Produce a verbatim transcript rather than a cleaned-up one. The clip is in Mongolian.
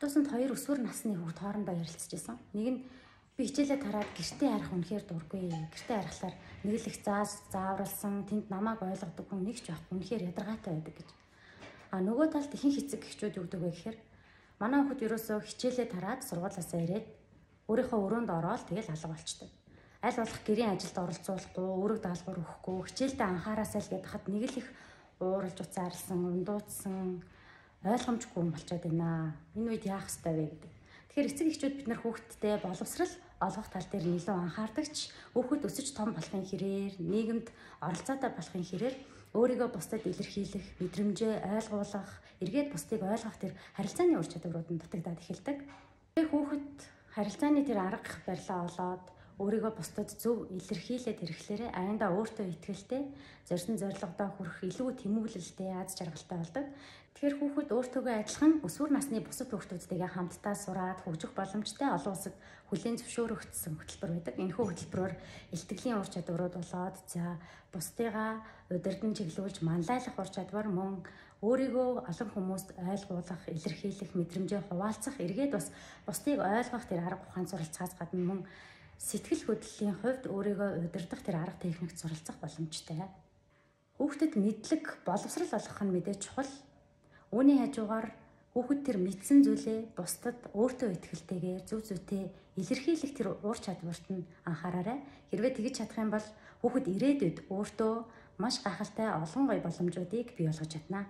Тусанд хоёр өсвөр насны хүүхд хоорондоо ярилцж байсан. Нэг нь би хичээлээ тараад гэртээ харах үнэхээр дургүй. Гэртээ харахаар нэг л их зааж зааварлсан, тэнд намайг ойлгодог хүн нэг ч байхгүй, үнэхээр ядаргаатай байдаг гэж. А нөгөө талд ихэнх эцэг эхчүүд юу гэдэг вэ гэхээр манай хүүхд ерөөсөө хичээлээ тараад сургуулиасаа ирээд өөрийнхөө өрөөнд ороод тэгэл алга болчтой. Аль болох гэрийн ажилд оролцуулахгүй, үүрэг даалгавар өгөхгүй, хичээлдээ анхаараасаа л гээд хахад нэг л их ууралж уцаарлсан, ундуудсан, ойлгомжгүй болчиход байна. Энэ үед яах ёстой вэ гэдэг. Тэгэхээр эцэг эхчүүд бид нар хүүхдтэй боловсрал олгох тал дээр илүү анхаардагч, хүүхэд өсөж том болохын хэрээр, нийгэмд оролцоотой болохын хэрээр өөрийгөө бусдад илэрхийлэх, мэдрэмжээ ойлгуулах, эргээд бусдыг ойлгох тэр харилцааны ур чадварууд нь дутагдаад эхэлдэг. Тэгээ хүүхэд харилцааны тэр арга барилаа олоод өөрийгөө бусдад зөв илэрхийлээд ирэхлээрээ аяндаа өөртөө итгэлтэй, зорьсон зорилгодоо хүрэх илүү тэмүүлэлтэй, аз жаргалтай болдог. Тэгэхээр хүүхэд өөртөөгөө адилхан өсвөр насны бусад хүүхдүүдтэйгээ хамтдаа сураад хөгжих боломжтой олон улсад хүлээн зөвшөөрөгдсөн хөтөлбөр байдаг. Энэхүү хөтөлбөрөөр илтгэлийн ур чадварууд болоод за бусдыгаа удирдан чиглүүлж манлайлах ур чадвар мөн өөрийгөө олон хүмүүст ойлгуулах, илэрхийлэх, мэдрэмжээ хуваалцах, эргээд бас бусдыг ойлгох тэр арга ухаан суралцахаас гадна мөн сэтгэл хөдлөлийн хувьд өөрийгөө удирдах тэр арга техникт суралцах боломжтой. Хүүхдэд мэдлэг, боловсрал олгох нь мэдээж чухал. Үүний хажуугаар хүүхэд тэр мэдсэн зүйлээ бусдад өөртөө итгэлтэйгээр зөв зүйтэй илэрхийлэх тэр ур чадварт нь анхаараарай. Хэрвээ тэгж чадах юм бол хүүхэд ирээдүйд өөртөө маш гайхалтай олон гоё боломжуудыг бий болгож чадна.